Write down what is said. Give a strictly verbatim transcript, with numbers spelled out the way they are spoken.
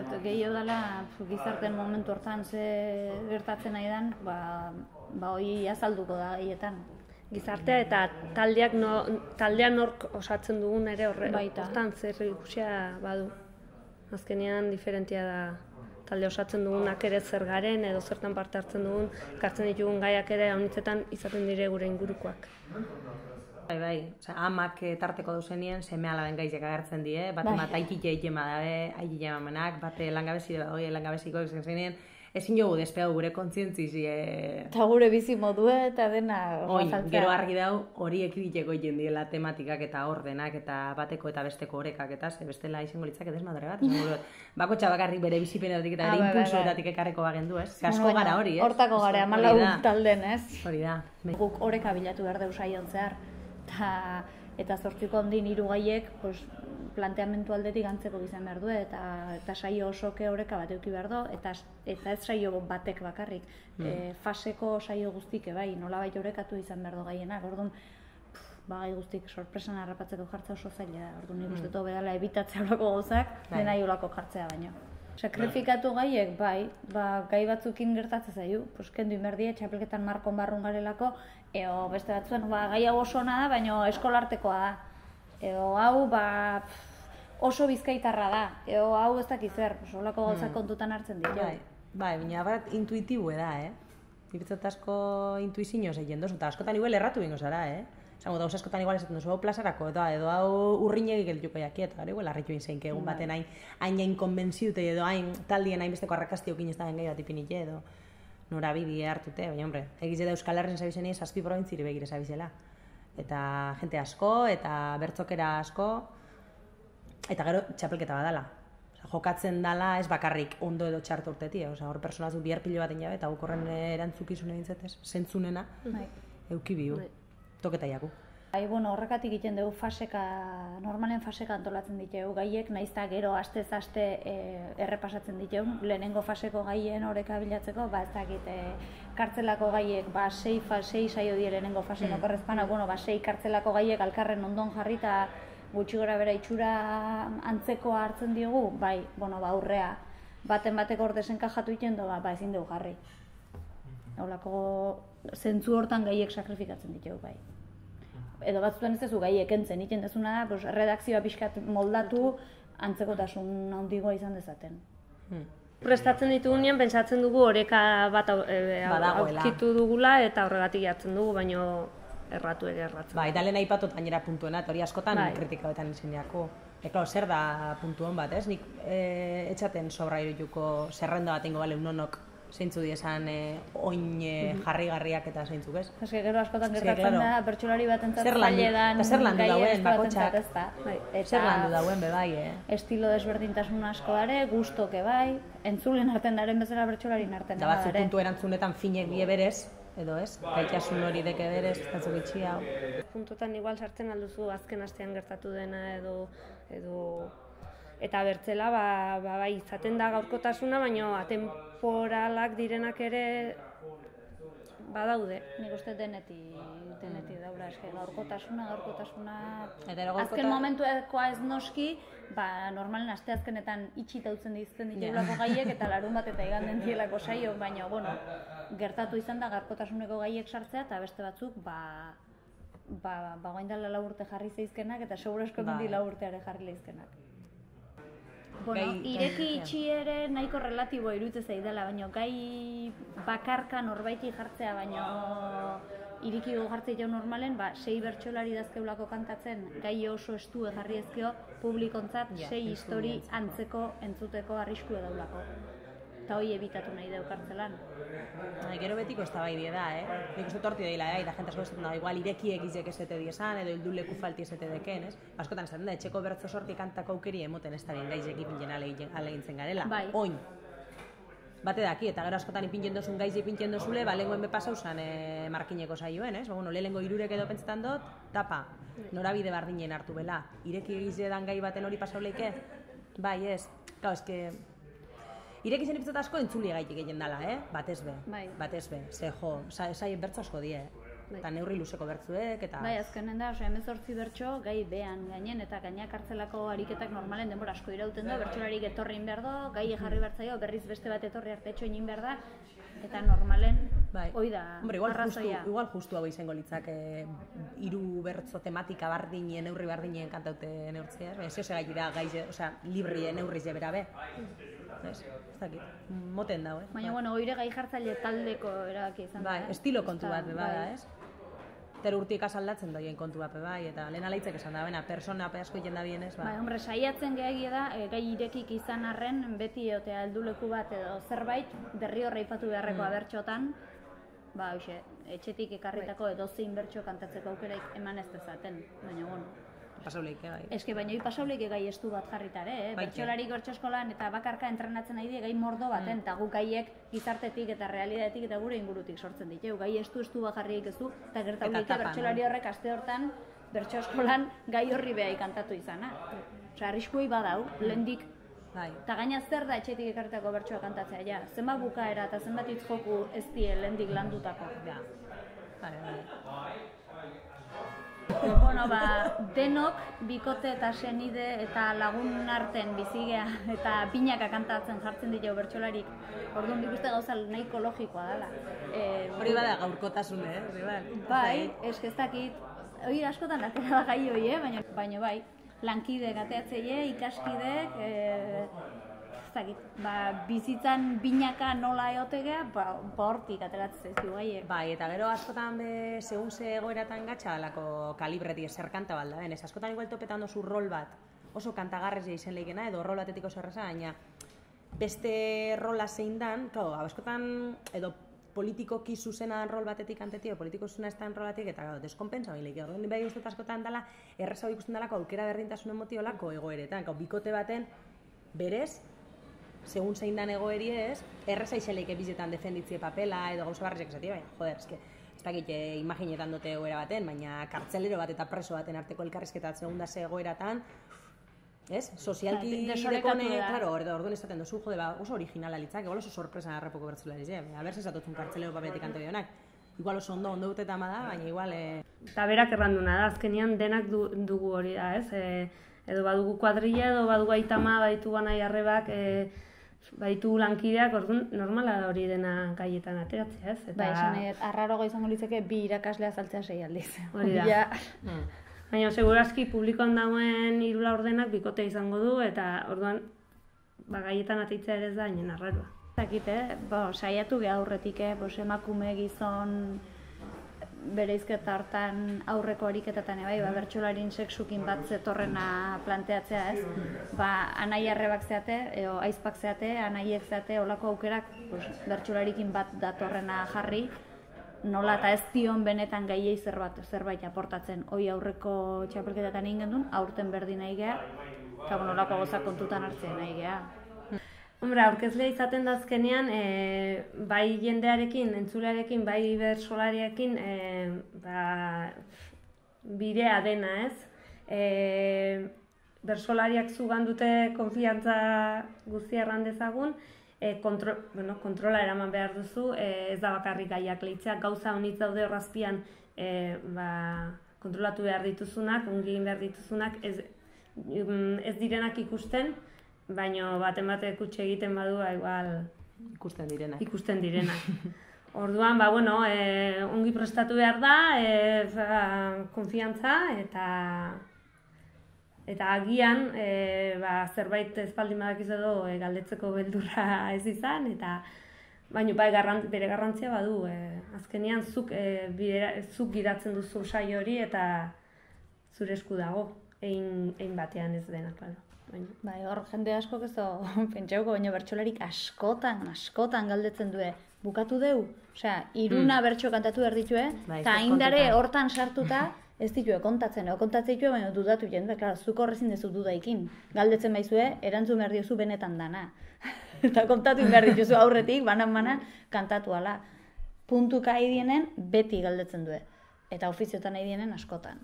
dut, gehiago dela gizarten momentu hortan ze gertatzen nahi den, ba, ba hori azalduko da gehietan. Gizartea eta taldeak no, taldean nork osatzen dugun ere horre, Baita. hortan zer ikusia badu. Azkenean diferentia da talde osatzen dugunak ere zer garen edo zertan parte hartzen dugun, kartzen ditugun gaiak ere honitzetan izaten dire gure ingurukoak. Bai, bai, osea, amak tarteko duzenien seme alaben gaizek agertzen die, bat Bai. bat aikite egema dabe, aikite emamenak, bate langabezi da, hori langabeziko izan zenien, ezin jogu despegau gure kontzientzizi. Eta gure bizi modue eta dena Oin, azaltzea. gero argi dau hori ekiditeko egin diela tematikak eta ordenak eta bateko eta besteko orekak eta ze bestela izango litzake desmadre bat, esango dut. Bakotxa bakarrik bere bizipenetik eta Ah, bere bai, bai, impulsoetatik ekarreko bagendu, ez? Ze asko Bueno, gara hori, ez? Hortako gara, Hori hamalau da. talden, ez? Hori da. Guk oreka bilatu behar deus saion zehar. Ta, eta zortziko ondin hiru gaiek pues, planteamendu aldetik antzeko izan behar du eta, eta saio osoke oreka bat eduki behar du eta, eta ez saio batek bakarrik. Mm. E, faseko saio guztik bai, nolabait orekatu izan behar du gaienak. Orduan, ba, gai guztik sorpresan harrapatzeko jartzea oso zaila da. Orduan nik uste dut bedala ebitatzea horako gauzak, Bai. dena olako jartzea baino. Sakrifikatu gaiek, bai, ba, gai batzukin gertatzen zaiu, pues, kendu inberdie, txapelketan markon barrun garelako, eo beste batzuen, ba, gai hau oso ona da, baina eskolartekoa da. Eo hau, ba, oso bizkaitarra da, eo hau ez dakiz zer, olako gauzak kontutan hartzen ditu. Bai, bai, baina bat intuitibu da, eh? Irutzat asko intuizioz egin dozu, eta askotan igual erratu bingo zara, eh? Zango da, askotan igual esaten duzu, hau plazarako, eta edo hau urrinegik geldituko jakiet, gara igual harritu inzein, egun baten hain hain hain konbentziute edo hain taldien hain besteko arrakastiokin ez da gai bat ipinite edo norabide hartute, baina hombre, egize da Euskal Herren zabizeni zazpi probintziri begire zabizela. Eta jente asko, eta bertzokera asko, eta gero txapelketa badala. Osea, jokatzen dala ez bakarrik ondo edo txarto urtetie, osea, hor personazu bihar pilo baten jabe, eta guk horren erantzukizune dintzatez, zentzunena, Bai. euki bihu, Bai. toketa jaku. Bai, bueno, horrekatik egiten dugu faseka, normalen faseka antolatzen ditugu gaiek, naizta gero astez aste e, errepasatzen ditugu, lehenengo faseko gaien oreka bilatzeko, ba ez dakit, e, kartzelako gaiek, ba sei, fa, sei saio die lehenengo faseko mm. korrezpana, bueno, ba sei kartzelako gaiek alkarren ondon jarri eta gutxi gora bera itxura antzekoa hartzen diogu, bai, bueno, ba aurrea, baten bateko hor desenkajatu iten do, ba, ba ezin dugu jarri. Holako zentzu hortan gaiek sakrifikatzen ditugu, bai. Edo batzutan ez duzu gaiek entzen, egiten dezuna da, pues, redakzioa pixkat moldatu antzekotasun handigoa izan dezaten. Hmm. Prestatzen ditugunean, pentsatzen dugu oreka bat au- e, au- Badagoela. aurkitu dugula eta horregatik jartzen dugu, baino erratu ere erratzen. Bai, eta lehen aipatot gainera puntuena, eta hori askotan Bai. kritikabetan izeniako. Eko, zer da puntu hon bat, ez? Nik e, etxaten sobra irituko zerrenda bat ingo bale unonok zeintzu diesan e, oin e, jarri-garriak eta zeintzuk, ez? Eske gero askotan Eske, gertatzen claro. da, bertsolari batentzat Zer landu- zaila dan eta zer landu gaia dauen, beste batentzat bakotxak? ez da. Bai. Eta Zer landu dauen be bai, eh? estilo desberdintasun asko dare, gustoke bai, entzulen arten daren bezala bertsolarin arten Da batzu puntu erantzunetan finek die berez, edo ez? Gaitasun hori deke berez, batzu gitxi hau. Puntotan igual sartzen alduzu azken astean gertatu dena edo edo eta bertzela ba, ba, bai izaten da gaurkotasuna, baino atemporalak direnak ere badaude. Nik uste denetik, denetik daura, eske gaurkotasuna, gaurkotasuna... Eta gero gaurkota- Azken momentuekoa ez noski, ba, normalen asteazkenetan itxita utzen dizten ditugulako gaiek eta larun bat eta iganden dielako saio, baina, bueno, gertatu izan da gaurkotasuneko gaiek sartzea eta beste batzuk, ba, ba, ba, guain dela lau urte jarri zeizkenak eta seguro esko Bai. mendi lau urteare jarri leizkenak. Bueno, Gai- ireki gai- itxi ere nahiko relatiboa iruditzen zaidala, baina gai bakarka norbaiti jartzea, baina irikigo jartzea jau normalen, ba, sei bertsolari dazkeulako kantatzen, gai oso estu jarri ezkeo, publikontzat Ja, sei histori entzule. antzeko entzuteko arrisku daulako. Eta hoi ebitatu nahi deu kartzelan. Bai, gero betiko ez da bai die da, eh? Nik uste torti daila, eh? Eta jente asko esaten da, igual ireki egizek esete diesan, edo hildu leku falti esete deken, ez? Askotan esaten da, etxeko bertzo sorti kantako aukeri emoten ez da bien gaizek ipintzen alegintzen garela. Bai. Oin. Bate daki, eta gero askotan ipintzen dozun gaiz ipintzen dozule, ba, lehengoen bepasau zan e, markineko saioen, ez? Ba, bueno, lehengo irurek edo pentsetan dut, tapa, norabide bardinen hartu bela. Ireki egize dan gai baten hori pasau leike? Bai, ez. Kau, eske... Ireki zen ipizat asko entzuli gaitik egin dala, eh? Batez be, Bai. batez be. Ze jo, sa, saien bertzo asko die, eh? eta neurri luzeko bertzuek, eta... Bai, azkenen da, oso hemezortzi bertso gai behan gainen, eta gainak hartzelako ariketak normalen denbora asko irauten du, bertsolarik etorri in behar do, gai jarri bertzaio, berriz beste bat etorri artetxo egin behar da, eta normalen, hoi da, arrazoia. Igual justu hau izango litzak hiru bertzo tematika bardinen, neurri bardinen kantaute neurtzea, ez zeo gai dira gai, osea, libri neurriz jebera be. Ez dakit, moten dago, eh? Baina, bueno, oire gai jartzaile taldeko erabaki izan da, Bai, estilo kontu bat be bada, ez? Ter urtik asaldatzen doien kontu bat be bai, eta lehen alaitzek esan da, bena, persona asko egiten da bienez, bai. Bai, hombre, saiatzen gehiagia da, gai irekik izan arren, beti eotea helduleku bat edo zerbait, derri horra ipatu beharreko abertxotan, ba, hoxe, etxetik ekarritako edozein bertxo kantatzeko aukeraik eman ez dezaten, baina, bueno. Pasauleik, bai. Eske, baina hori pasauleik gai estu bat jarritare, eh? Bertxolarik bertso eskolan eta bakarka entrenatzen nahi die gai mordo baten, eta guk gaiek gizartetik eta realidadetik eta gure ingurutik sortzen ditu. Gai estu estu bat jarriek ezu, eta gertaulike bertxolari horrek aste hortan bertso eskolan gai horri behai kantatu izana. Osa, arriskuei badau, lehendik. Eta gaina zer da etxetik ekarritako bertsoa kantatzea, ja. Zenbat bukaera eta zenbat hitz joku ez die lehendik landutako. Ja. Bale, bale. Bueno, ba, denok, bikote eta senide eta lagun arten bizigea eta pinaka kantatzen jartzen ditu bertsolarik. Orduan nik uste gauza nahiko logikoa dela. Hori bada gaurkotasun, eh? Bai, eske ez dakit, hori askotan atera da gai hori, eh? Baina bai, lankide gateatzeie, ikaskidek, ez dakit, ba, bizitzan binaka nola eotegea, ba, hortik ateratzen zaizkigu gaiek. Bai, eta gero askotan be, segun ze egoeratan gatsa alako kalibreti ezer kanta balda, ben, ez askotan igual topetan dozu rol bat, oso kantagarrez izen leikena, edo rol batetik oso erraza, baina beste rola zein dan, claro, askotan, edo politikoki zuzenan rol batetik kantetik, politiko zuzena ez dan rol batetik, eta gau, deskompensa bain leik, orduan bai uste askotan dela, erraza hori ikusten delako aukera berdintasunen motiolako egoeretan, gau, bikote baten, berez, segun zein dan egoeri ez, erraza izeleik ebizetan defenditzie papela edo gauza barrizek esatia, baina, joder, eske, ez dakit imaginetan dute egoera baten, baina kartzelero bat eta preso baten arteko elkarrizketa segunda ze egoeratan, ez? Sozialki dekone, claro, orduan esaten dozu, jode, ba, oso originala litzak, igual oso sorpresa harrapoko bertzulariz, eh? Albert esatotzun kartzelero papetik ante bionak. Igual oso ondo, ondo duteta ama da, baina igual... Eta berak erranduna da, azkenian denak dugu hori da, ez? Edo badugu kuadrilla, edo badugu aitama, baditu banai arrebak, baitu lankideak, orduan normala da hori dena gaietan ateratzea, ez? Bai, esan edo, arrarogo izango litzeke bi irakaslea saltzea sei aldiz. Hori da. Baina, segurazki publikoan dagoen hiru laurdenak bikotea izango du, eta orduan gaietan ateitzea ere ez da, hainen arraroa. Zakit, eh? Saiatu geha aurretik, emakume gizon bereizketa hartan aurreko ariketatan bai, bertsolarin sexukin bat zetorrena planteatzea, ez? Ba, anai arrebak zeate, edo aizpak zeate, anaiek zeate, olako aukerak bertsolarikin bat datorrena jarri, nola eta ez dion benetan gaiei zerbait aportatzen. Hoi aurreko txapelketetan egin gendun, aurten berdin nahi geha, eta nolako goza kontutan hartzen nahi geha. Hombre, aurkezlea izaten da azkenean, bai jendearekin, entzulearekin, bai bertsolariarekin bidea dena, ez? Bertsolariak zugan dute konfiantza guztia erran dezagun, kontrola eraman behar duzu, ez da bakarrik gaiak lehitzea, gauza honitz daude horrazpian kontrolatu behar dituzunak, ongi egin behar dituzunak, ez direnak ikusten, baina baten batek utxe egiten badua, igual... Ikusten direnak. Ikusten direnak. Orduan, ba, bueno, ongi prestatu behar da, konfiantza, eta... Eta agian, zerbait espaldin badakiz edo galdetzeko beldurra ez izan, eta... Baina, bere garrantzia badu, azkenean zuk gidatzen duzu saio hori, eta zure esku dago, egin batean ez dena, klaro. Bai, hor jende askok ez da pentsauko, baina bertsolarik askotan, askotan galdetzen du, bukatu deu? Osea, iruna bertso kantatu behar ditue, eta haindare hortan sartuta ez ditue kontatzen, edo kontatzen ditue, baina dudatu jende, klar, zuk horrezin dezu dudaikin. Galdetzen baizue, erantzun behar diozu benetan dana. Eta kontatu behar dituzu aurretik, banan-banan, kantatu ala. Puntuka aidienen, beti galdetzen du. Eta ofiziotan aidienen askotan.